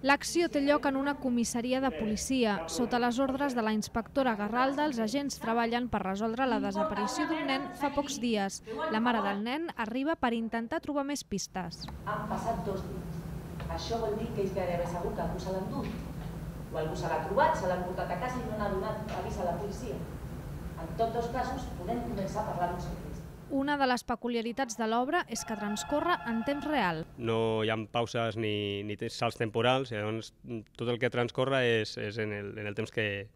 L'acció té lloc en una comissaria de policia. Sota les ordres de la inspectora Garralda, els agents treballen per resoldre la desaparició d'un nen fa pocs dies. La mare del nen arriba per intentar trobar més pistes. Han passat 2 dies. Això vol dir que ells va haver sabut que algú se l'ha endut. O algú se l'ha trobat, se l'ha portat a casa i no n'ha donat avís a la policia. En tots 2 casos podem començar a parlar d'un segrest. Una de les peculiaritats de l'obra és que transcorre en temps real. No hi ha pauses ni salts temporals, llavors tot el que transcorre és en el temps que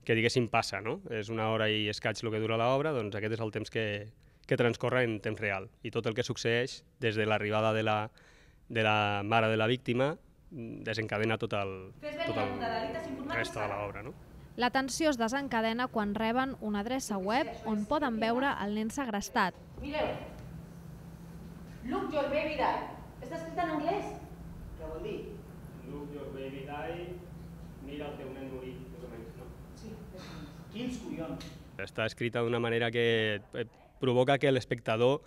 diguéssim passa, no? És 1 hora i escaig el que dura l'obra, doncs aquest és el temps que transcorre en temps real. I tot el que succeeix des de l'arribada de la mare de la víctima desencadena tot el resta de l'obra, no? La tensió es desencadena quan reben una adreça web on poden veure el nen segrestat. Mireu, Look Your Baby Die. Està escrit en anglès? Què vol dir? Look Your Baby Die, mira el teu nen morir, més o menys, no? Sí. Quins collons. Està escrita d'una manera que provoca que l'espectador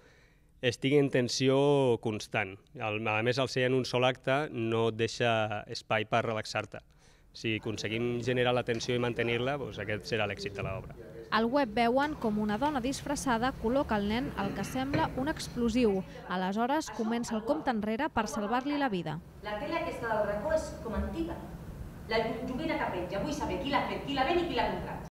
estigui en tensió constant. A més, al ser en un sol acte no et deixa espai per relaxar-te. Si aconseguim generar la tensió i mantenir-la, doncs aquest serà l'èxit de l'obra. Al web veuen com una dona disfressada col·loca al nen el que sembla un explosiu. Aleshores comença el compte enrere per salvar-li la vida. La tela aquesta del racó és com antiga. La joguina que penja, vull saber qui l'ha fet, qui la ven i qui l'ha comprat.